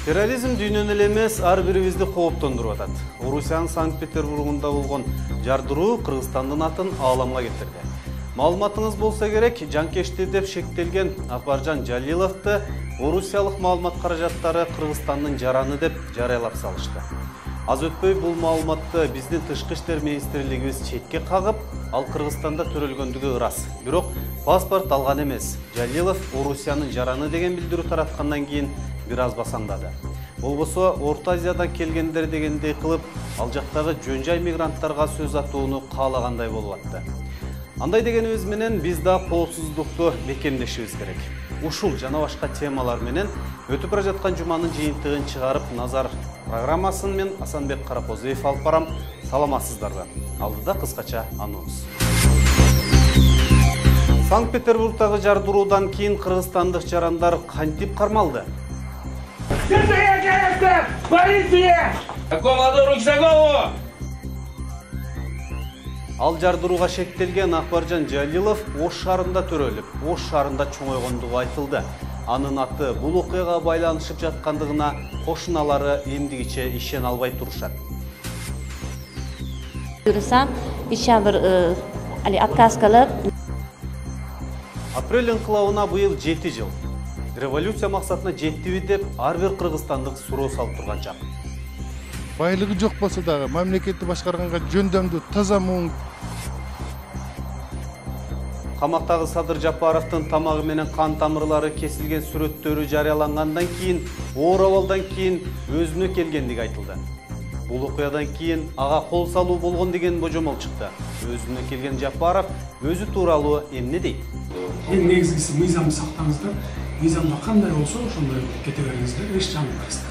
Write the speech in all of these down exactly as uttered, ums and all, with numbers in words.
Терроризм дүйнөнү эле эмес, ар бирибизди кооптондуруп атат. Орусиянын Санкт-Петербургунда болгон жардыруу Кыргызстандын атын ааламга кетирди. Маалыматыңыз болса керек, жанкечти деп шектелген Акбаржан Жалиловду орусиялык маалымат каражаттары Кыргызстандын жараны деп жарыялап салышты. Аз өтпөй бул маалыматты биздин тышкы иштер министрлигибиз четке кагып, ал Кыргызстанда төрөлгөндүгү ырас. Бирок паспорт алган эмес. Жалилов Орусиянын жараны деген билдирүү тараткандан кийин бир аз басаңдады. Болбосо Орто Азиядан келгендер дегендей кылып, ал жактагы жөн жай мигранттарга сөз атууну каалагандай болуп атты. Андай дегенибиз менен биз да коопсуздукту бекемдешибиз керек. Ушул жана башка темалар менен өтүп бара жаткан жуманын жыйынтыгын чыгарып, Назар программасын мен Асанбек Каракозуев алып барам. Саламатсыздарбы? Алдыда кыскача анонс. Санкт-Петербургдагы жардыруудан кийин кыргызстандык жарандар кантип кармалды? Полиция! Командор Руксагову! Ал жардырууга шектелген Акбаржан Жалилов Ош шаарында төрөлүп, Ош шаарында чоңойгондугу айтылды. Анын аты бул окуяга байланышып жаткандыгына кошуналары эмдигиче ишене албай турушат. Буюрсам, иши бир али отказ кылып. Апрель инкылабына быйыл жети жыл. Революция максатына жеттиби деп ар бир кыргызстандык суроо салып турган чак. Байлыгы жок болсо дагы мамлекетти башкарганга жөндөмдүү таза муң. Камактагы Садыр Жапаровдун тамагы менен кан тамырлары кесилген сүрөттөрү жарыялангандан кийин, оор абалдан кийин өзүнө келгендиги айтылды. Бул окуядан кийин ага кол салуу болгон деген божомол чыкты. Өзүнө келген Жапаров өзү тууралуу эмне дейт? Эң негизгиси мыйзамды сактаңыздар. Мыйзамда кандай болсо, ошондой кете бериңиздер, эч жамырбайсыздар.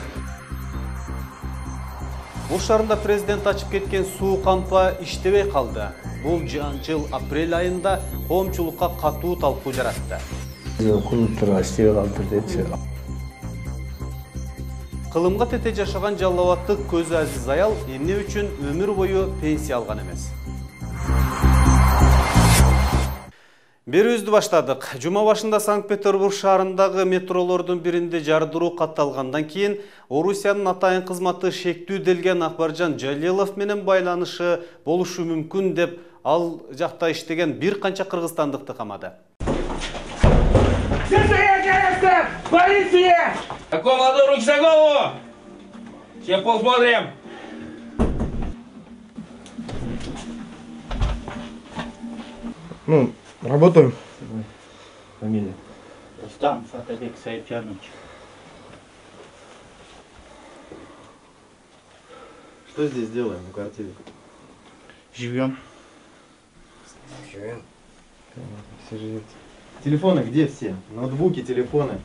Ош шаарында президент ачып кеткен суу кампа иштебей калды. Бул жыл апрель айында коомчулукка катуу талкуу жаратты. Кулуптар иштебей калды депчи. Кылымга тете жашаган жалал абадтык Көзү Азиз аял эмне үчүн өмүр бою пенсия алган эмес? Берүүбүздү баштадык. Жума башында Санкт-Петербург шаарындагы метролордун биринде жардыруу катталгандан кийин Орусиянын атайын кызматы шектүү делген Акбаржан Жалилов менен байланышы болушу мүмкүн деп ал жакта иштеген бир канча кыргызстандыкты камады. Полиция! Командор Руксагову! Сейчас посмотрим. Ну, работаем. Фамилия? Рустам Фатабек Саиджанович. Что здесь делаем в квартире? Живем. Живем. Все живете. Телефоны где все? Ноутбуки, телефоны.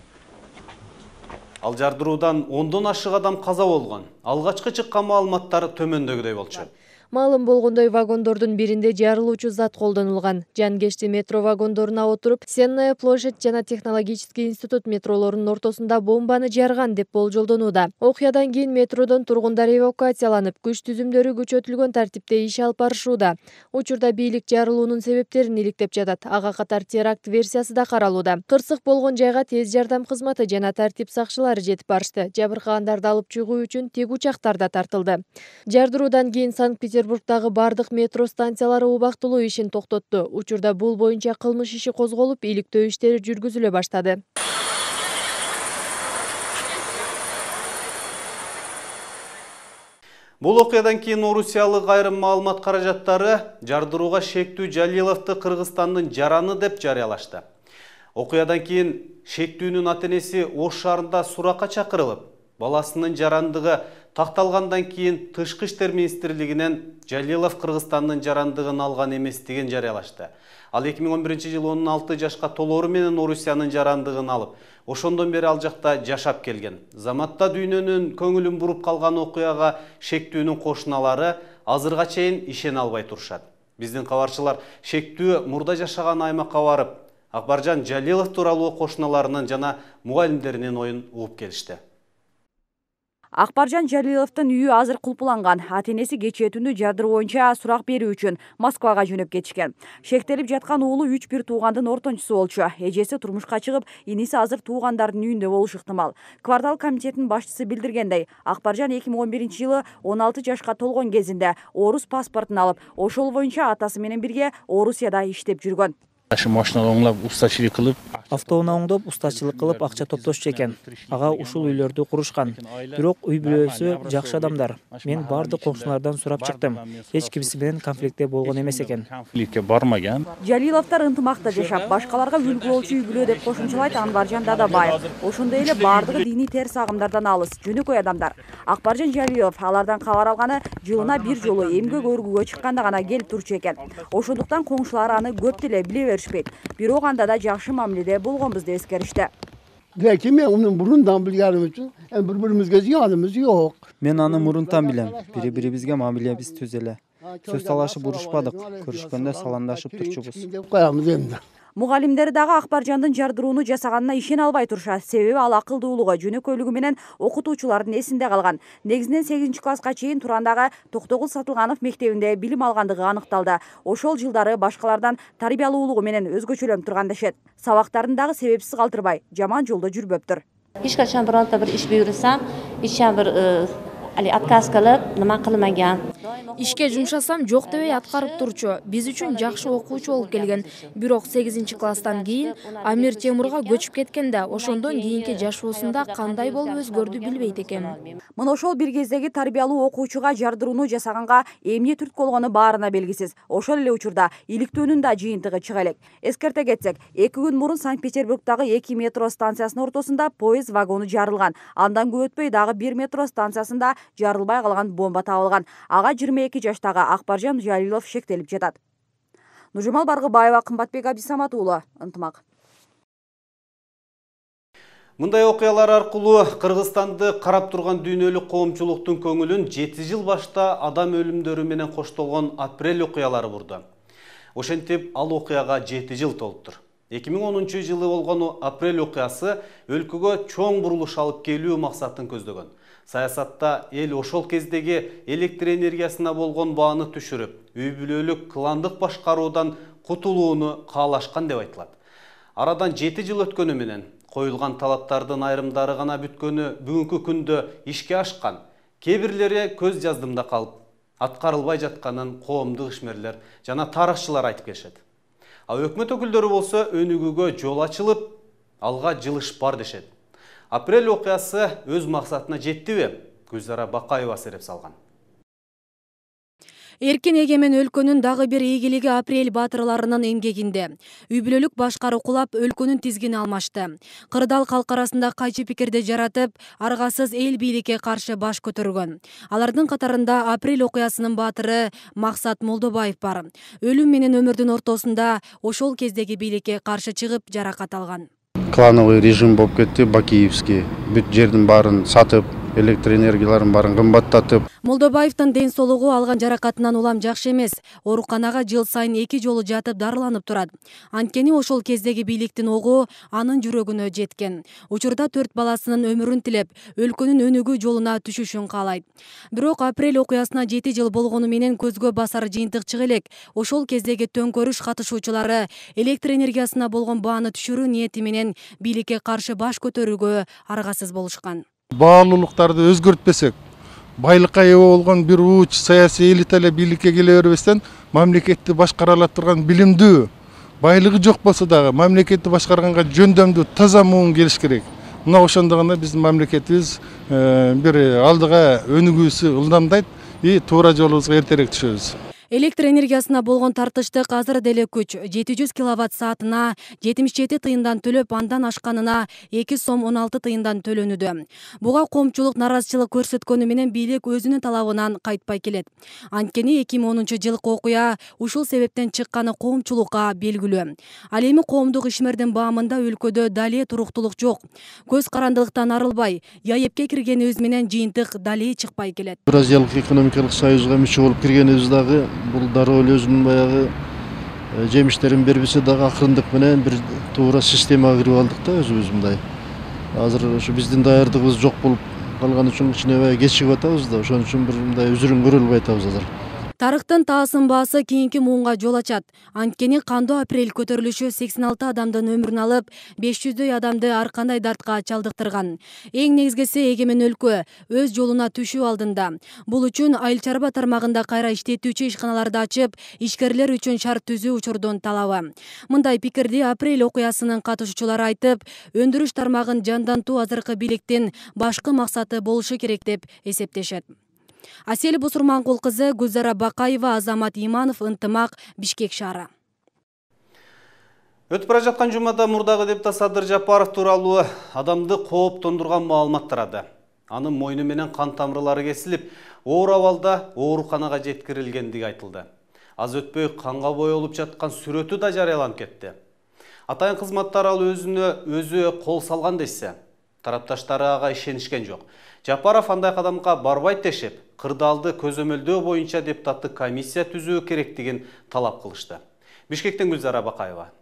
Ал жардыруудан ондон ашык адам каза болгон. Алгачкы чыккан маалыматтар төмөндөгүдөй болчу. Маалым болгондой вагондордун биринде жарылуучу зат колдонулган. Жангечти метро вагондоруна отуруп, Сенная площадь жана технологический институт метролорунун ортосунда бомбаны жарган деп болжолдонууда. Окуядан кийин метродон тургундар эвакуацияланып, күч түзүмдөрү күчөтүлгөн тартипте иш алып барышууда. Учурда бийлик жарылуунун себептерин иликтеп жатат. Ага катар теракт версиясы да каралууда. Кырсык болгон жайга тез жардам кызматы жана тартип сакчылары жетип барышты. Жабыркагандарды алып чыгуу үчүн тик учактар да тартылды. Жардыруудан кийин Санкт-Петербург Петербургдагы бардык метро станциялары убактылуу ишин токтотту. Учурда бул боюнча кылмыш иши козголуп, иликтөө иштери жүргүзүлө баштады. Бул окуядан кийин орусиялык айрым маалымат каражаттары жардырууга шектүү Жалиловду Кыргызстандын жараны деп жарыялашты. Окуядан кийин шектүүнүн ата-энеси Ош шаарында суракка чакырылып, баласынын жарандыгы такталгандан кийин Тышкы иштер министрлигинен Жалилов Кыргызстандын жарандыгын алган эместигин жарыялашты. Ал эки миң он биринчи жылы он алты жашка толоору менен Орусиянын жарандыгын алып, ошондон бери ал жакта жашап келген. Заматта дүйнөнүн көңүлүн буруп калган окуяга шектүүнүн кошуналары азырга чейин ишене албай турушат. Биздин кабарчылар шектүү мурда жашаган аймакка барып, Акбаржан Жалилов тууралуу кошуналарынын жана мугалимдеринин оюн угуп келишти. Акбаржан Жалиловдун үйү азыр кулпуланган. Ата-энеси кечээ түнү жардыруу боюнча сурак берүү үчүн Москвага жөнөп кетишкен. Шектелип жаткан уулу үч бир туугандын ортончусу болчу. Эжеси турмушка чыгып, иниси азыр туугандардын үйүндө болушу ыктымал. Квартал комитетинин башчысы билдиргендей, Акбаржан эки миң он биринчи жылы он алты жашка толгон кезинде орус паспортун алып, ошол боюнча атасы менен бирге Орусияда иштеп жүргөн. Машина оңлап, устачылык кылып, автоунаа оңдоп, устачылык кылып акча топтошчу экен. Ага ушул үйлөрдү курушкан. Бирок үй бүлөсү жакшы адамдар. Мен бардык коңшулардан сурап чыктым. Эч кимси менен конфликтте болгон эмес экен. Конфликтке бармаган. Жалиловдор ынтымакта жашап, башкаларга үлгү болчу үй бүлө деп кошумчалайт Анваржан Дадабаев. Ошондой эле бардыгы диний терс агымдардан алыс, жөнөкөй адамдар. Акбаржан Жалилов алардан кабар алганы жылына бир жолу эмгек өргүүгө чыкканда гана келип турчу экен. Ошондуктан коңшулар аны көп деле биле бирок анда да жакшы мамиледе болгонбуз деп эскеришти. Lekin men uni burundan bilganim uchun bir-birimizga ziyonimiz yo'q. Men аны мурунтан билем. Бири-бирибизге мамилебиз түз эле. Сөз талашып урушпадык. Көрүшкөндө саламдашып турчубуз. Коябыз эмне. Мугалимдер дагы Акбаржандын жардырууну жасаганына ишене албай турушат. Себеби ал акылдуулугу, жөнөкөйлүгү менен окутуучулардын эсинде калган. Негизинен сегизинчи класска чейин Турандагы Токтогул Сатылганов мектебинде билим алгандыгы аныкталды. Ошол жылдары башкалардан тарбиялуулугу менен өзгөчөлөнүп турган дешет. Сабактарын дагы себепсиз калтырбай, жаман жолдо жүрбөптүр. Эч качан биронта бир иш буйрусам, эч бир али отказ кылып, нема кылмаган. Ишке жумшасам жок дебей аткарып турчу. Биз үчүн жакшы окуучу болуп келген. Бирок сегизинчи класстан кийин Амир Темурга көчүп кеткенде, ошондон кийинки жашоосунда кандай болуп өзгөрдү билбейт экен. Мына ошол бир кездеги тарбиялуу окуучуга жардырууну жасаганга эмне түрткү болгону баарына белгисиз. Ошол эле учурда иликтөөнүн да жыйынтыгы чыга элек. Эскерте кетсек, эки күн мурун Санкт-Петербургдагы эки метро станциясынын ортосунда поезд вагону жарылган. Андан көп өтпөй дагы бир метро станциясында жарылбай калган бомба табылган. Ага жыйырма эки жаштагы Акбаржан Жалилов шектелип жатат. Нуржамал Баргыбаева, Кымбатбек Абдисамат уулу, ынтымак. Мындай окуялар аркылуу Кыргызстанды карап турган дүйнөлүк коомчулуктун көңүлүн жети жыл башта адам өлүмдөрү менен коштолгон апрель окуялары бурду. Ошентип, ал окуяга жети жыл толуптур. эки миң онунчу жылы болгон апрель окуясы өлкөгө чоң бурулуш алып келүү максатын көздөгөн. Саясатта эл ошол кездеги электр энергиясына болгон бааны түшүрүп, үй бүлөлүк кландык башкаруудан кутулууну каалашкан деп айтылат. Арадан жети жыл өткөнү менен коюлган талаптардын айрымдары гана бүткөнү бүгүнкү күндө ишке ашкан, кээ бирлери көз жаздымда калып, аткарылбай жатканын коомдук ишмерлер жана тарыхчылар айтып келишет. А өкмөт өкүлдөрү болсо өнүгүүгө жол ачылып, алга жылыш бар дешет. Апрель окуясы өз максатына жеттиби? Гүлзара Бакаева сереп салган. Эркин эгемен өлкөнүн дагы бир ийгилиги апрель баатырларынын эмгегинде. Үй бүлөлүк башкаруу кулап өлкөнүн тизгини алмашты. Кырдаал калк арасында кайчы пикирди жаратып, аргасыз эл бийликке каршы баш көтөргөн. Алардын катарында апрель окуясынын баатыры Максат Молдобаев бар. Өлүм менен өмүрдүн ортосунда ошол кездеги бийликке каршы чыгып жаракат алган. Клановый режим болуп кетти, Бакиевский. Бүт жердин баарын сатып, электр энергияларын баарын кымбаттатып. Молдобаевдин ден соолугу алган жаракатынан улам жакшы эмес. Ооруканага жыл сайын эки жолу жатып дарыланып турат. Анткени ошол кездеги бийликтин огу анын жүрөгүнө жеткен. Учурда төрт баласынын өмүрүн тилеп, өлкөнүн өнүгүү жолуна түшүшүн каалайт. Бирок апрель окуясына жети жыл болгону менен көзгө басар жыйынтык чыга элек. Ошол кездеги төңкөрүш катышуучулары электр энергиясына болгон бааны түшүрүү ниети менен бийликке каршы баш көтөрүүгө аргасыз болушкан. Баалуулуктарды өзгөртпесек, байлыкка ээ болгон бир уч саясий элита эле бийликке келе бербестен, мамлекетти башкара ала турган билимдүү, байлыгы жок болсо дагы мамлекетти башкарганга жөндөмдүү таза муун келиш керек. Мына ошондо гана биздин мамлекетибиз бир алдыга өнүгүүсү ылдамдайт и туура жолубузга эртерээк түшөбүз. Электр энергиясына болгон тартыштык азыр деле күч. жети жүз киловатт саатына жетимиш жети тыйындан төлөп, андан ашканына эки сом он алты тыйындан төлөнүүдө. Буга коомчулук наразычылык көрсөткөнү менен бийлик өзүнүн талабынан кайтпай келет. Анткени эки миң онунчу жылкы окуя ушул себептен чыкканы коомчулукка белгилүү. Ал эми коомдук ишмердин баамында өлкөдө дале туруктулук жок. Көз карандылыктан арылбай, яепке киргенибиз менен жыйынтык дале чыкпай келет. Евразиялык экономикалык союзга мүчө болуп киргенибиз дагы бул дароо эле өзүнүн баягы жемиштерин бербесе дагы акырындык менен бир туура системага кирип алдык да өзүбүз мындай. Азыр ошо биздин даярдыгыбыз жок болуп калган үчүн кичине аябай кечигип атабыз да, ошон үчүн бир мындай үзүрүн көрө албай атабыз азыр. Тарыктын таасын баасы кийинки муунга жол ачат. Анткени кандуу апрель көтөрүлүшү сексен алты адамдын өмүрүн алып, беш жүздөй адамды ар кандай дартка чалдыктырган. Эң негизгиси эгемен өлкө өз жолуна түшүү алдында. Бул үчүн айыл чарба тармагында кайра иштетүүчү ишканаларды ачып, ишкерлер үчүн шарт түзүү учурдун талабы. Мындай пикирди апрель окуясынын катышуучулары айтып, өндүрүш тармагын жандантуу азыркы бийликтин башкы максаты болушу керек деп эсептешет. Асель Бусурманкул кызы, Гүлзара Бакаева, Азамат Иманов, Ынтымак, Бишкек шаары. Өтүп бара жаткан жумада мурдагы депутат Садыр Жапаров тууралуу адамды кооптондурган маалымат тарады. Анын мойну менен кан тамырлары кесилип, оор абалда ооруканага жеткирилгендиги айтылды. Аз өтпөй канга боелуп жаткан сүрөтү да жарыяланып кетти. Атайын кызматтар ал өзүнө өзү кол салган десе, тарапташтары ага ишенишкен жок. Жапаров андай кадамга барбайт дешип, кырдаалды көзөмөлдөө боюнча депутаттык комиссия түзүү керектигин талап кылышты. Бишкектен Гүлзара Бакаева.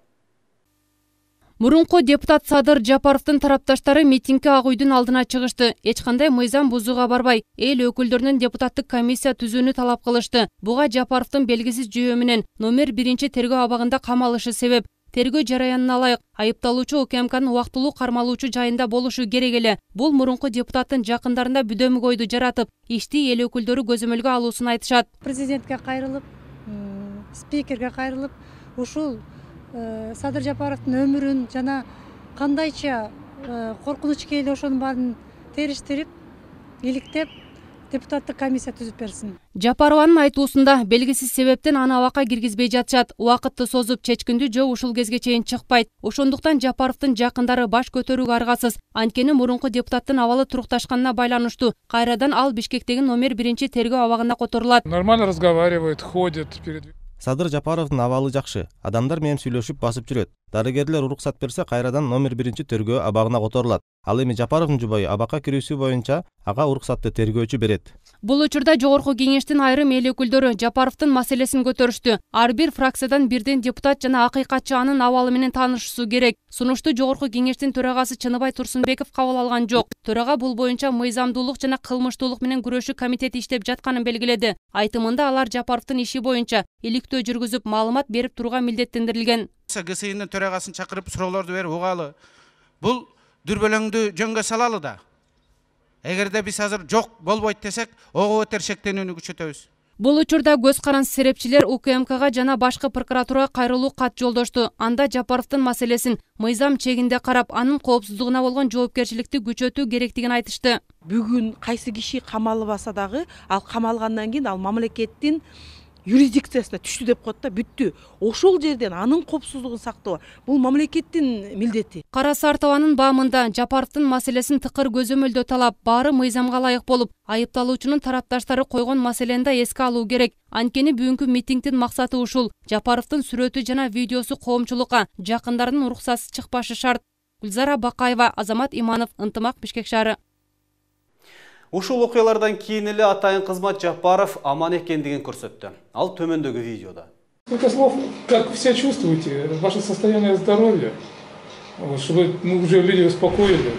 Мурунку депутат Садыр Жапаровдун тарапташтары митингге Ак үйдүн алдына чыгышты. Эч кандай мыйзам бузууга барбай, эл өкүлдөрүнүн депутаттык комиссия түзүүнү талап кылышты. Буга Жапаровдун белгисиз жөө менен номер биринчи тергөө абагында камалышы себеп. Тергөө жараянына ылайык айыпталуучу УКМКнын убактылуу кармалуучу жайында болушу керек эле. Бул мурунку депутаттын жакындарында бүдөмүк ойду жаратып, ишти эл өкүлдөрү көзөмөлгө алуусун айтышат. Президентке кайрылып, спикерге кайрылып, ушул Садыр Жапаровдун өмүрүн жана кандайча коркунуч келе ошонун баарын териштирип, иликтеп, депутаттык комиссия түзүп берсин. Жапарованын айтуусунда белгисиз себептен аны абакка киргизбей жатышат. Убакытты созуп чечкиндүү жөө ушул кезге чейин чыкпайт. Ошондуктан Жапаровдун жакындары баш көтөрүүгө аргасыз. Анткени мурунку депутаттын абалы турукташканына байланыштуу. Кайрадан ал Бишкектеги номер биринчи тергөө абагына которулат. Нормально разговаривает, ходит перед... Садыр Жапаровдун абалы жакшы. Адамдар менен сүйлөшүп басып жүрөт. Дарыгерлер уруксат берсе, кайрадан номер биринчи тергөө абагына которулат. Ал эми Жапаровдун жубайы абакка кирүүсү боюнча ага уруксатты тергөөчү берет. Бул учурда жогорку кеңештин айрым эл өкүлдөрү Жапаровдун маселесин көтөрүштү. Ар бир фракциядан бирден депутат жана акыйкатчы анын абалы менен таанышышуу керек. Сунушту жогорку кеңештин төрагасы Чыныбай Турсунбеков кабыл алган жок. Төрага бул боюнча мыйзамдуулук жана кылмыштуулук менен күрөшүү комитети иштеп жатканын белгиледи. Айтымында алар Жапаровдун иши боюнча иликтөө жүргүзүп, маалымат берип турууга милдеттендирилген. ГСИнин төрагасын чакырып суроолорду берип угалы. Бул дүрбөлөңдү жөнгө салалы да. Эгерде биз азыр жок болбойт десек, ого өтөр шектенүүнү күчөтөбүз. Бул учурда көз карансыз серепчилер УКМКга жана башкы прокуратурага кайрылуу кат жолдошту. Анда Жапаровдун маселесин мыйзам чегинде карап, анын коопсуздугуна болгон жоопкерчиликти күчөтүү керектигин айтышты. Бүгүн кайсы киши камалбаса дагы, ал камалгандан кийин ал мамлекеттин юрисдикциясына түштү деп коет да, бүттү. Ошол жерден анын коопсуздугун сактоо бул мамлекеттин милдети. Кара Сартованын баамында Жапаровдун маселесин тыкыр көзөмөлдөө талап, баары мыйзамга ылайык болуп, айыпталуучунун тарапташтары койгон маселени да эске алуу керек. Анткени бүгүнкү митингдин максаты ушул. Жапаровдун сүрөтү жана видеосу коомчулукка, жакындарынын уруксатсыз чыкпашы шарт. Гүлзара Бакаева, Азамат Иманов, Ынтымак, Бишкек шаары. Ушул окуялардан кийин эле атайын кызмат Жапаров аман экендигин көрсөттү. Ал төмөндөгү видеодо. Сколько слов, как вы себя чувствуете, ваше состояние здоровья, вот, чтобы мы уже люди успокоили.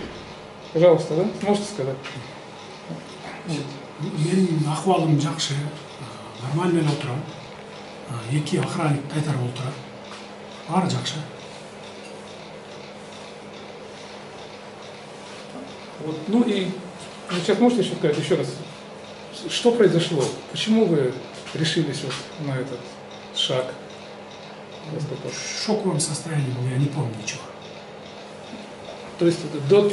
Пожалуйста, да? Можете сказать? Менин акыбалым жакшы, нормально эле отурам. Эки охранник кайтарып отурат. Баары жакшы. Вот, ну и вы сейчас можете еще сказать еще раз, что произошло? Почему вы решились вот на этот шаг? В шоковом состоянии был, я не помню ничего. То есть, до,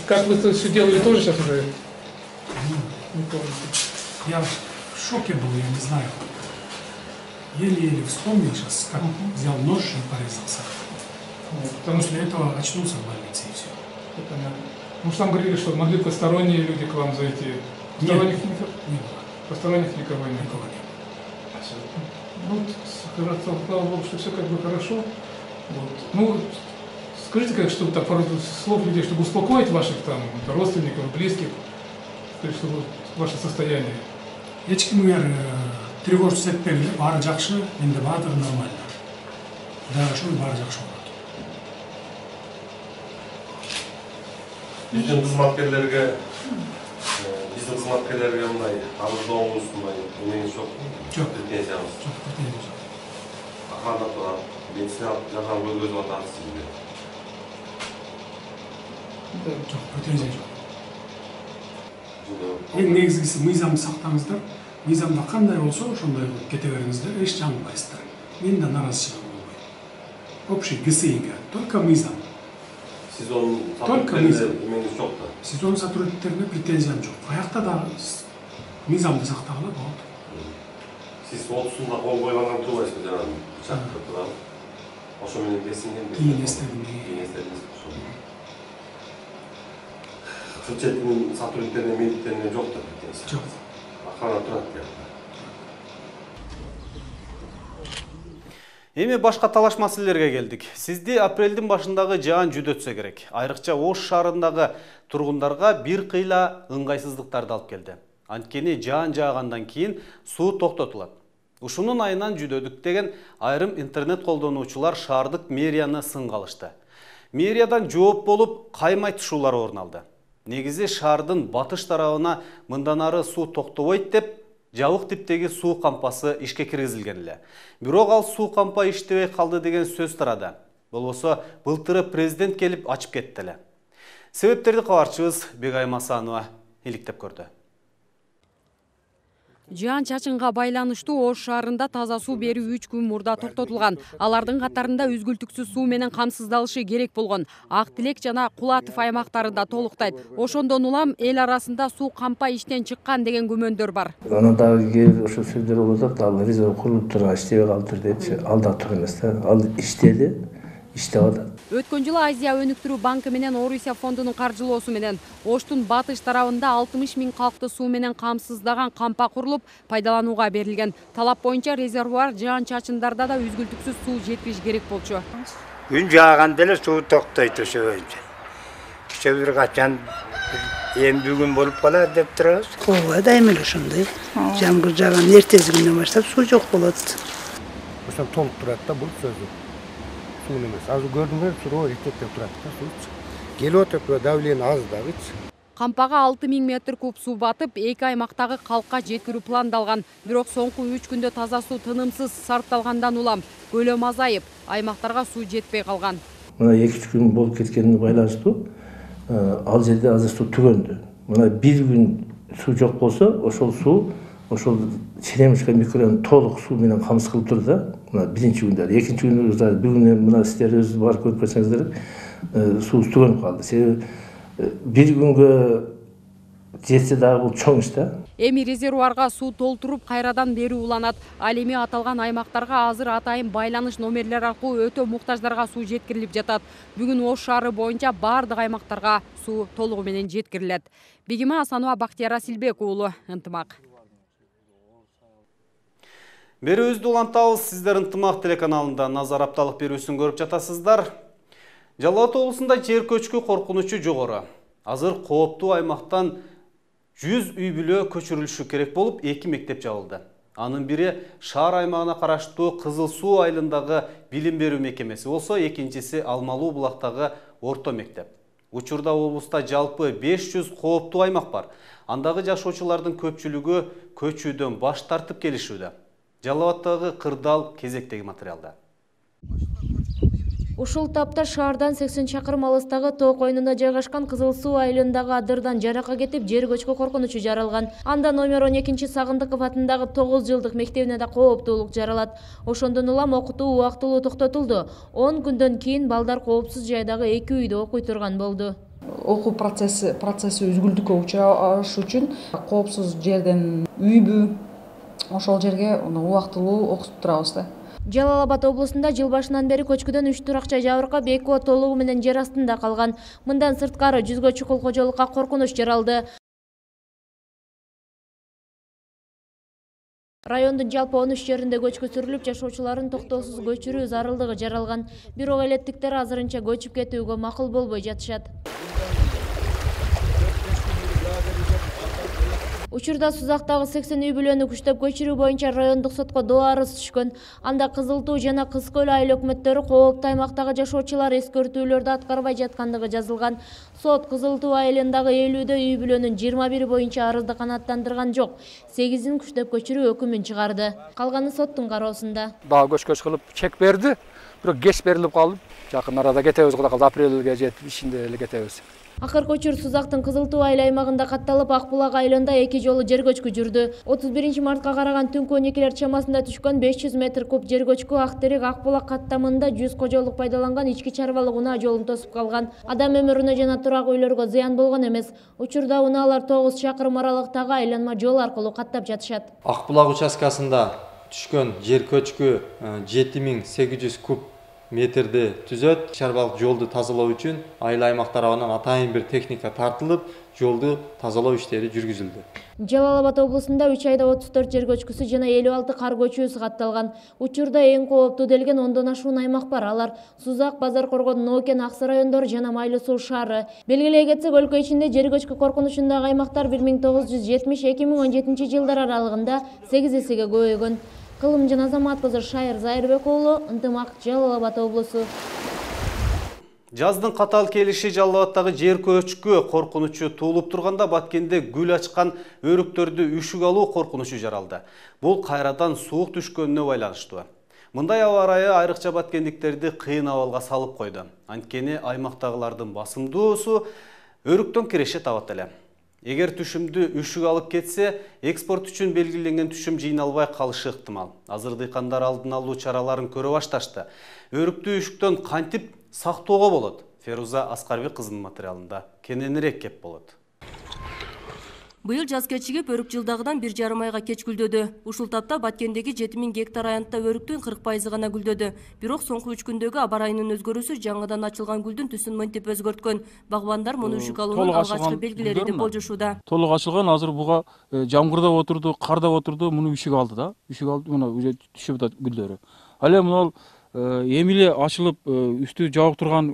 как вы это все делали, тоже сейчас уже не помните? Я в шоке был, я не знаю. Еле-еле вспомнил сейчас, как взял нож и порезался. Вот, потому что После этого очнулся в больнице и все. Понятно. Ну, что там говорили, что могли посторонние люди к вам зайти. Посторонних Нет, никого? не было. Посторонних никого нет. Никого нет. Ну, слава богу, что все как бы хорошо. Вот. Ну, скажите, как, чтобы так пару слов людей, чтобы успокоить ваших там родственников, близких, чтобы ваше состояние. Ешкимге тревожность этпеңиз, баары жакшы, менде баардыгы нормально. Дагы ошол баары жакшы болот. Биздин кызматкерлерге Сиздин кызматкерлерге мындай арыздооңуз мындай эмеңиз жокпу? Жок. Претензияңыз? Жок, претензия жок. Кандай турат? Медициналык жардам көргөзүп атат сизге? Жок, претензия жок. Эң негизгиси мыйзамды сактаңыздар. Мыйзамда кандай болсо ошондой кылып кете бериңиздер, эч жаңылбайсыздар. Мен да наразычылыгым болбойт. Общий ГСИге только мыйзам. Сезон Только мыйзам. Эмеңиз жок да? Сезон сотрудниктерине претензиям жок. Аякта да мыйзамды сактагыла болот. Сиз отузунда кол койгонун турбайсызбы жанагы чакырып турабы? Ошо менен кесинген. Кийин эстедим. Кийин эстедиңиз. Кырчеттин сотрудниктерине, медиктерине жок да претензия. Жок. Охрана турат да. Эми башка талаш маселелерге келдик. Сизди апрелдин башындагы жаан жүдөтсө керек. Айрыкча Ош шаарындагы тургундарга бир кыйла ыңгайсыздыктарды алып келди. Анткени жаан жаагандан кийин суу токтотулат. Ушунун айынан жүдөдүк деген айрым интернет колдонуучулар шаардык мэрияны сынга алышты. Мэриядан жооп болуп каймай тушуулар орун алды. Негизи шаардын батыш тарабына мындан ары суу токтобойт деп жабык типтеги суу кампасы ишке киргизилген эле. Бирок ал суу кампа иштебей калды деген сөз тарады. Болбосо былтыры президент келип ачып кетти эле. Себептерди кабарчыбыз Бегайым Асанова иликтеп көрдү. Жаан чачынга байланыштуу Ош шаарында таза суу берүү үч күн мурда токтотулган. Алардын катарында үзгүлтүксүз суу менен камсыздалышы керек болгон Ак Тилек жана Кулатов аймактары да толуктайт. Ошондон улам эл арасында суу кампа иштен чыккан деген күмөндөр бар. Анан дагы кээ ошо сөздөр болуп атат, ал резерв курулуп турган иштебей калдыр депчи. Ал да туура эмес да. Ал иштеди, иштеп атат. Өткөн жылы Азия өнүктүрүү банкы менен Орусия фондунун каржылоосу менен Оштун батыш тарабында алтымыш миң калкты суу менен камсыздаган кампа курулуп пайдаланууга берилген. Талап боюнча резервуар жаан чачындарда да үзгүлтүксүз суу жеткириш керек болчу. Күн жааганда эле суу токтойт ошо боюнча. Киче бир качан эми бүгүн болуп калат деп турабыз. Ооба, дайыма эле ошондой. Жамгыр жааган эртеси күндөн баштап суу жок болот. Ошо толук турат да бул сөзү. Суу эмес. Азыр көрдүңөр, суроо иртектеп турат да суу. Келип отуруп давление аз дагычы. Кампага алты миң метр куб суу батып, эки аймактагы калкка жеткирүү пландалган. Бирок соңку үч күндө таза суу тынымсыз сарпталгандан улам көлөм азайып, аймактарга суу жетпей калган. Мына эки үч күн болуп кеткенине байланыштуу ал жерде азыр суу түгөндү. Мына бир күн суу жок болсо, ошол суу ошол Черемушка микрорайонун толук суу менен камсыз кылып турду да. Мына биринчи күндө, экинчи күндө бүгүн мына сиздер өзүңүз барып көрүп көрсөңүздөр, суу түгөнүп калды. Себеби бир күнгө жетсе дагы бул чоң иш да. Эми резервуарга суу толтуруп кайрадан берүү уланат. Ал эми аталган аймактарга азыр атайын байланыш номерлер аркылуу өтө муктаждарга суу жеткирилип жатат. Бүгүн Ош шаары боюнча бардык аймактарга суу толугу менен жеткирилет. Бегима Асанова, Бактияр Асилбек уулу, Ынтымак. Берүүбүздү улантабыз. Сиздер Ынтымак телеканалында назар апталык берүүсүн көрүп жатасыздар. Жалал Абад облусунда жер көчкү коркунучу жогору. Азыр кооптуу аймактан жүз үй бүлө көчүрүлүшү керек болуп, эки мектеп жабылды. Анын бири шаар аймагына караштуу Кызыл Суу айылындагы билим берүү мекемеси болсо, экинчиси Алмалуу булактагы орто мектеп. Учурда облуста жалпы беш жүз кооптуу аймак бар. Андагы жашоочулардын көпчүлүгү көчүүдөн баш тартып келишүүдө. Жалал Абадтагы кырдаал кезектеги материалда. Ушул тапта шаардан сексен чакырым алыстагы тоо койнуна жайгашкан Кызыл Суу айылындагы адырдан жаракка кетип, жер көчкү коркунучу жаралган. Анда номер он экинчи Сагындыков атындагы тогуз жылдык мектебине да кооптуулук жаралат. Ошондон улам окутуу убактылуу токтотулду. он күндөн кийин балдар коопсуз жайдагы эки үйдө окуй турган болду. Окуу процесси процесси үзгүлтүккө учураш үчүн коопсуз жерден үйбү ошол жерге убактылуу окутуп турабыз да. Жалал Абад облусунда жыл башынан бери көчкүдөн үч туракча жабыркап, эки толугу менен жер астында калган. Мындан сырткары жүзгө чукул кожолукка коркунуч жаралды. Райондун жалпы он үч жеринде көчкү сүрүлүп, жашоочуларын токтоосуз көчүрүү зарылдыгы жаралган. Бирок элеттиктер азырынча көчүп кетүүгө макул болбой жатышат. Учурда Сузактагы сексен үй бүлөнү күчтөп көчүрүү боюнча райондук сотко доо арыз түшкөн. Анда Кызыл Туу жана Кыз Көл айыл өкмөттөрү кооптуу аймактагы жашоочулар эскертүүлөрдү аткарбай жаткандыгы жазылган. Сот Кызыл Туу айылындагы элүүдөй үй бүлөнүн жыйырма бири боюнча арызды канааттандырган жок, сегизин күчтөп көчүрүү өкүмүн чыгарды. Калганы соттун кароосунда. Дагы көч-көч кылып чек берди, бирок кеч берилип калып, жакын арада кетебиз кудай калды, апрелге жетип ишинде эле кетебиз. Акыркы учур Сузактын Кызыл Туу айыл аймагында катталып, Ак булак айылында эки жолу жер көчкү жүрдү. отуз биринчи мартка караган түнкү он экилер чамасында түшкөн беш жүз метр куб жер көчкү Ак Терек Ак булак каттамында жүз кожолук пайдаланган ички чарбалык унаа жолун тосуп калган. Адам өмүрүнө жана турак үйлөргө зыян болгон эмес. Учурда унаалар тогуз чакырым аралыктагы айланма жол аркылуу каттап жатышат. Ак булак участкасында түшкөн жер көчкү жети миң сегиз жүз куб метрди түзөт. Чарбалык жолду тазалоо үчүн айыл аймак тарабынан атайын бир техника тартылып, жолду тазалоо иштери жүргүзүлдү. Жалал Абад облусунда үч айда отуз төрт жер көчкүсү жана элүү алты кар көчүүсү катталган. Учурда эң кооптуу делген ондон ашуун аймак бар. Алар Сузак, Базар Коргон, Ноокен, Аксы райондору жана Майлы Суу шаары. Белгилей кетсек, өлкө ичинде жер көчкү коркунучундагы аймактар бир миң тогуз жүз жетимиш эки миң он жетинчи жылдар аралыгында сегиз эсеге көбөйгөн. Кылым жана Азамат кызы Шайыр Зайырбек уулу, Ынтымак, Жалал Абад облусу. Жаздын катал келиши Жалал Абадтагы жер көчкү коркунучу туулуп турганда Баткенде гүл ачкан өрүктөрдү үшүк алуу коркунучу жаралды. Бул кайрадан суук түшкөнүнө байланыштуу. Мындай аба ырайы айрыкча баткендиктерди кыйын абалга салып койду. Анткени аймактагылардын басымдуусу өрүктөн киреше табат эле. Эгер түшүмдү үшүк алып кетсе, экспорт үчүн белгиленген түшүм жыйналбай калышы ыктымал. Азыр дыйкандар алдын алуу чараларын көрө башташты. Өрүктү үшүктөн кантип сактоого болот? Феруза Аскарбек кызынын материалында кененирээк кеп болот. Быйыл жаз кечигип, өрүк жылдагыдан бир жарым айга кеч гүлдөдү. Ушул тапта Баткендеги жети миң гектар аянтта өрүктүн кырк пайызы гана гүлдөдү. Бирок соңку үч күндөгү аба ырайынын өзгөрүүсү жаңыдан ачылган гүлдүн түсүн мынтип өзгөрткөн. Багбандар муну үшүк алуунун алгачкы белгилери деп болжошууда. Толук ачылган, азыр буга жамгырдап отурду, кардап отурду, муну үшүк алды да. Үшүк алды, мына уже түшүп атат гүлдөрү. Ал эми мына эми эле ачылып, үстү жабык турган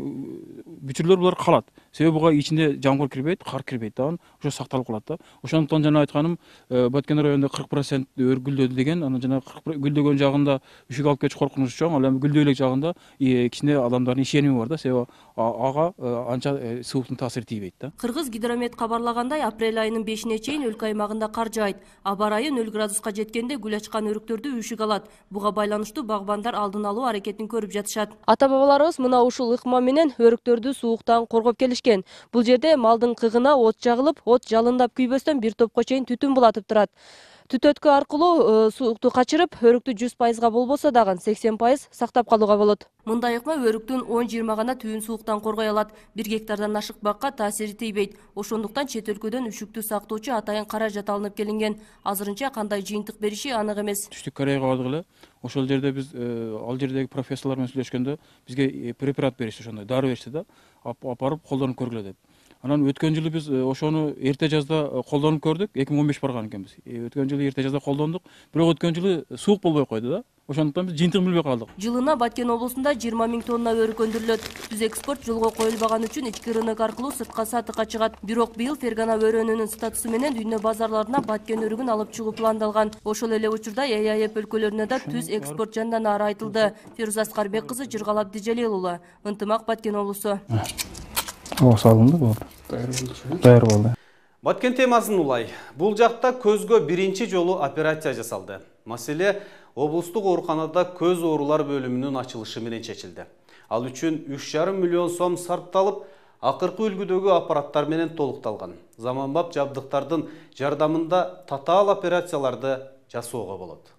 бүчүрлөр булар калат. Себеби буга ичинде жамгыр кирбейт, кар кирбейт да, ошо сакталып калат да. Ошондуктан жана айтканым, Баткен районунда кырк процент өр гүлдөдү деген, анан жана гүлдөгөн жагында үшүк алып кетиш коркунучу чоң, ал эми гүлдөй элек жагында кичине адамдардын ишеними бар да, себеби ага анча сууктун таасири тийбейт да. Кыргыз гидромет кабарлагандай, апрель айынын бешине чейин өлкө аймагында кар жаайт. Аба ырайы нөл градуска жеткенде гүл ачкан өрүктөрдү үшүк алат. Буга байланыштуу багбандар алдын алуу аракетин көрүп жатышат. Ата бабаларыбыз мына ушул ыкма менен өрүктөрдү сууктан коргоп келишкен. Бул жерде малдын кыгына от жагылып, от жалындап күйбөстөн бир топко чейин түтүн булатып турат. Түтөткө аркылуу суукту качырып, өрүктү жүз пайызга болбосо дагы сексен пайыз сактап калууга болот. Мындай ыкма өрүктүн он жыйырма гана түйүн сууктан коргой алат. Бир гектардан ашык бакка таасири тийбейт. Ошондуктан чет өлкөдөн үшүктү сактоочу атайын каражат алынып келинген. Азырынча кандай жыйынтык бериши анык эмес. Түштүк Кореяга бардык эле. Ошол жерде биз ал жердеги профессорлор менен сүйлөшкөндө бизге препарат беришти, ошондой дары беришти да. Апарып колдонуп көргүлө деп. Анан өткөн жылы биз ошону эрте жазда колдонуп көрдүк, эки миң он беш барган экенбиз. Өткөн жылы эрте жазда колдондук, бирок өткөн жылы суук болбой койду да. Ошондуктан биз жыйынтыгын билбей калдык. Жылына Баткен облусунда жыйырма миң тонна өрүк өндүрүлөт. Түз экспорт жолго коюлбаган үчүн ички рынок аркылуу сыртка сатыкка чыгат. Бирок быйыл Фергана өрөөнүнүн статусу менен дүйнө базарларына Баткен өрүгүн алып чыгуу пландалган. Ошол эле учурда ЭАЭП өлкөлөрүнө да түз экспорт жанданары айтылды. Феруза Аскарбек кызы, Жыргал Абдижалил уулу, Ынтымак, Баткен облусу. О, салынды болду. Даяр болду. Баткен темасын улай. Бул жакта көзгө биринчи жолу операция жасалды. Маселе облустук ооруканада көз оорулар бөлүмүнүн ачылышы менен чечилди. Ал үчүн үч жарым миллион сом сарпталып, акыркы үлгүдөгү аппараттар менен толукталган. Заманбап жабдыктардын жардамында татаал операцияларды жасоого болот.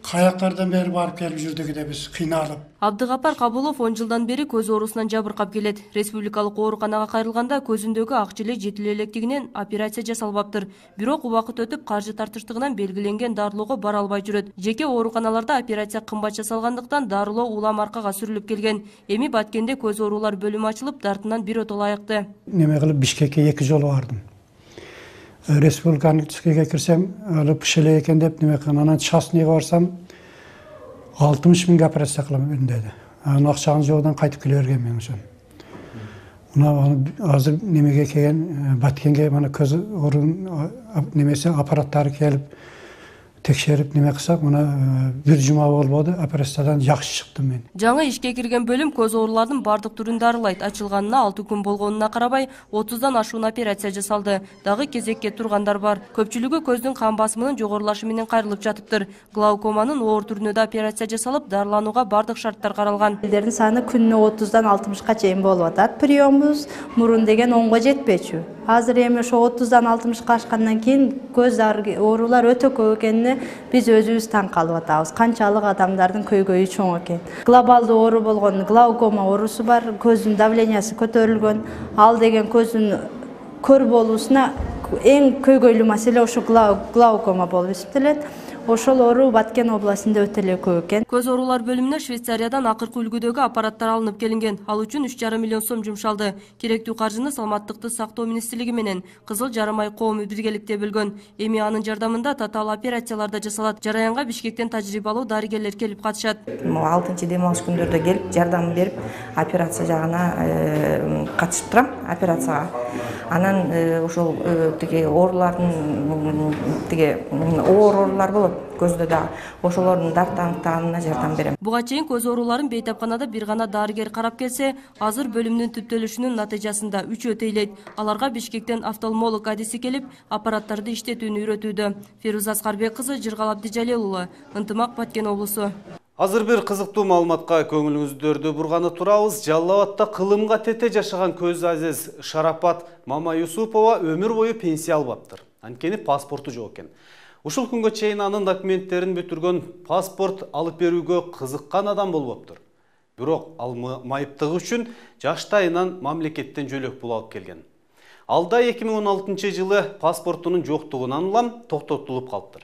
Каяктардан бери барып келип жүрдүк да биз кыйналып. Абдыгапар Кабулов он жылдан бери көз оорусунан жабыркап келет. Республикалык ооруканага кайрылганда көзүндөгү ак жиле жетиле электигинен операция жасалбаптыр. Бирок убакыт өтүп каржы тартыштыгынан белгиленген дарылоого бара албай жүрөт. Жеке ооруканаларда операция кымбат жасалгандыктан дарылоо улам аркага сүрүлүп келген. Эми Баткенде көз оорулар бөлүмү ачылып, дартынан бир отол аякты. Неме кылып Бишкекке эки жолу бардым. Республиканыкыга кирсем, алып шеле экен деп неме кылган. Анан частныйга барсам, алтымыш миңге операция кылам деди. Анын акчаны жогдан кайтып келе берген мен ошон. Мына азыр немеге келген Баткенге мына көз орун немесе аппараттары келип текшерип неме кылсак, мына бир жума болбоду, операциядан жакшы чыктым мен. Жаңы ишке кирген бөлүм көз оорулардын бардык түрүн дарылайт. Ачылганына алты күн болгонуна карабай, отуздан ашуун операция жасалды. Дагы кезекке тургандар бар. Көпчүлүгү көздүн кан басымынын жогорулашы менен кайрылып жатыптыр. Глаукоманын оор түрүнө да операция жасалып, дарыланууга бардык шарттар каралган. Элдердин саны күнүнө отуздан алтымышка чейин болуп атат. Приембуз мурун деген онго жетпечү. Азыр эми ошо отуздан алтымышка ашкандан кийин көз оорулар өтө көп экенине биз өзүбүз таң калып атабыз. Канчалык адамдардын көйгөйү чоң экен. Глобалдуу оору болгон глаукома оорусу бар, көздүн давлениясы көтөрүлгөн. Ал деген көздүн көр болуусуна эң көйгөйлүү маселе ошо глаукома болуп эсептелет. Ошол оору Баткен областында өтө эле көп экен. Көз оорулар бөлүмүнө Швейцариядан акыркы үлгүдөгү аппараттар алынып келинген. Ал үчүн үч жарым миллион сом жумшалды. Керектүү каржыны Саламаттыкты сактоо министрлиги менен Кызыл Жарымай коому биргеликте бөлгөн. Эми анын жардамында татаал операциялар да жасалат. Жараянга Бишкектен тажрыйбалуу дарыгерлер келип катышат. алтынчы дем алыш күндөрдө келип жардам берип, операция жагына катышып турам, операцияга. Анан ошол тиги оорулардын тиги оор оорулар болот. Көздө да ошолордун дартаныктанына жардам берем. Буга чейин көз ооруларын бейтапканада бир гана дарыгер карап келсе, азыр бөлүмдүн түптөлүшүнүн натыйжасында үчөө тейлейт. Аларга Бишкектен офтальмолог адиси келип, аппараттарды иштетүүнү үйрөтүүдө. Фируза Аскарбек кызы, Жыргалап Дижалел уулу, Ынтымак, Баткен облусу. Азыр бир кызыктуу маалыматка көңүлүңүздөрдү бурганы турабыз. Жалал Абадта кылымга тете жашаган көз азиз Шарапат Мамаюсупова өмүр бою пенсия албаптыр. Анткени паспорту жок экен. Ушул күнгө чейин анын документтерин бүтүргөн паспорт алып берүүгө кызыккан адам болбоптур. Бирок ал майыптыгы үчүн жаштайынан мамлекеттен жөлөк пул алып келген. Алда эки миң он алтынчы жылы паспортунун жоктугунан улам токтотулуп калыптыр.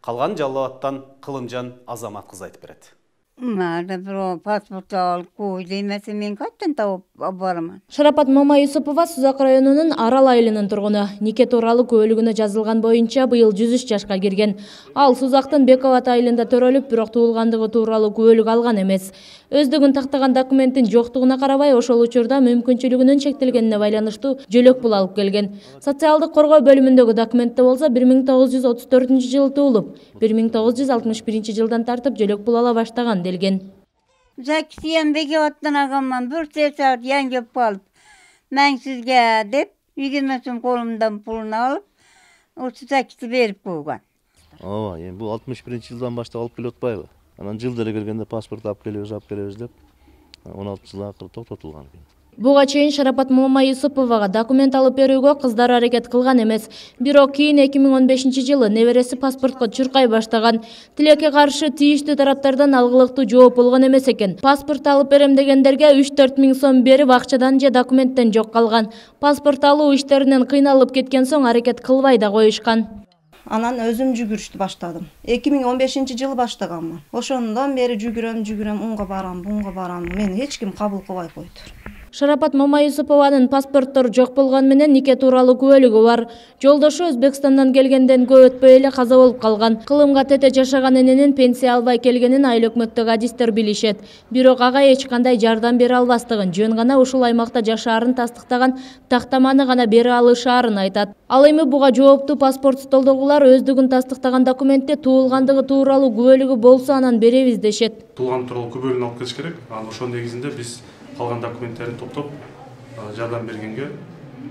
Калган Жалал Абадтан Кылымжан Азамат кыз айтып берет. Мада бирөө паспорт алып кой демесе мен кайдан тауып бараман. Шарапат Мамаюсупова Сузак районунун Арал айылынын тургуну. Нике тууралуу куөлүгүнө жазылган боюнча быйыл жүз үч жашка кирген. Ал Сузактын Бекабат айылында төрөлүп, бирок туулгандыгы тууралуу күбөлүк алган эмес. Өздүгүн тактаган документтин жоктугуна карабай, ошол учурда мүмкүнчүлүгүнүн чектелгенине байланыштуу жөлөк пул алып келген. Социалдык коргоо бөлүмүндөгү документте болсо бир миң тогуз жүз отуз төртүнчү жылы туулуп, бир миң тогуз жүз алтымыш биринчи жылдан тартып жөлөк пул ала баштаган делген. Закисиям Бекабаттан алганман, бир саат яңгеп калып, мен сизге деп, yigirme сом колумдан пулун алып, ошо закисти берип койгон. Ооба, эми бул алтымыш биринчи жылдан баштап алып келип атпайбы? Анан жыл деле келгенде паспорт алып келебиз, алып келебиз деп он алты жыл акыры токтотулган экен. Буга чейин Шарапат Мамаюсуповага документ алып берүүгө кыздар аракет кылган эмес. Бирок кийин эки миң он бешинчи жылы небереси паспортко чуркай баштаган. Тилекке каршы тийиштүү тараптардан алгылыктуу жооп болгон эмес экен. Паспорт алып берем дегендерге үч төрт миң сом берип акчадан же документтен жок калган. Паспорт алуу иштеринен кыйналып кеткен соң аракет кылбай да коюшкан. Анан өзүм жүгүрүштү баштадым. эки миң он бешинчи жылы баштаганмын. Ошондон бери жүгүрөм, жүгүрөм, унга барам, бунга барам. Мени эч ким кабыл кылбай койтур. Шарапат Мамаюсупованын паспорттору жок болгон менен нике тууралуу күбөлүгү бар. Жолдошу Өзбекстандан келгенден көп өтпөй эле каза болуп калган. Кылымга тете жашаган эненин пенсия албай келгенин айыл өкмөттөгү адистер билишет. Бирок ага эч кандай жардам бере албастыгын, жөн гана ушул аймакта жашаарын тастыктаган тактаманы гана бере алышаарын айтат. Ал эми буга жооптуу паспорт столдогулар өздүгүн тастыктаган документте туулгандыгы тууралуу күбөлүгү болсо анан беребиз дешет. Туулган тууралуу күбөлүгүн алып келиш керек. Анан ошонун негизинде биз калган документтерин топтоп жардам бергенге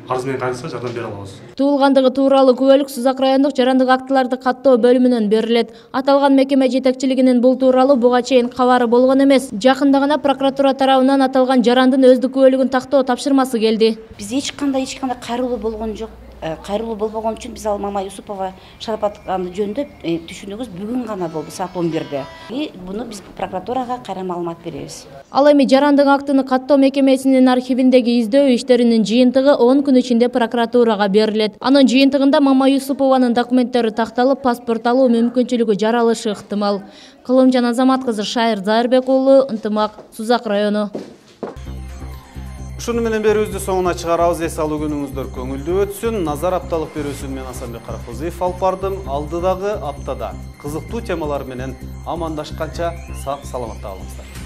арыз менен кайрылса жардам бере алабыз. Туулгандыгы тууралуу күбөлүк Сузак райондук жарандык актыларды каттоо бөлүмүнөн берилет. Аталган мекеме жетекчилигинин бул тууралуу буга чейин кабары болгон эмес. Жакында гана прокуратура тарабынан аталган жарандын өздүк күбөлүгүн тактоо тапшырмасы келди. Биз эч кандай эч кандай кайрылуу болгон жок. Кайрылуу болбогон үчүн биз ал Мамаюсупова Шарапат жөнүндө түшүнүгүбүз бүгүн гана болду саат он бирде. И буну биз прокуратурага кайра маалымат беребиз. Ал эми жарандык актыны каттоо мекемесинин архивиндеги издөө иштеринин жыйынтыгы он күн ичинде прокуратурага берилет. Анын жыйынтыгында Мамаюсупованын документтери такталып, паспорт алуу мүмкүнчүлүгү жаралышы ыктымал. Кылымжан Азамат кызы, Шайыр Зайырбек уулу, Ынтымак, Сузак району. Ушуну менен берүүбүздү соңуна чыгарабыз. Эс алуу күнүңүздөр көңүлдүү өтсүн. Назар апталык берүүсүн мен Асанбек Каракозуев алып бардым. Алдыдагы аптада кызыктуу темалар менен амандашканча сак саламатта калыңыздар.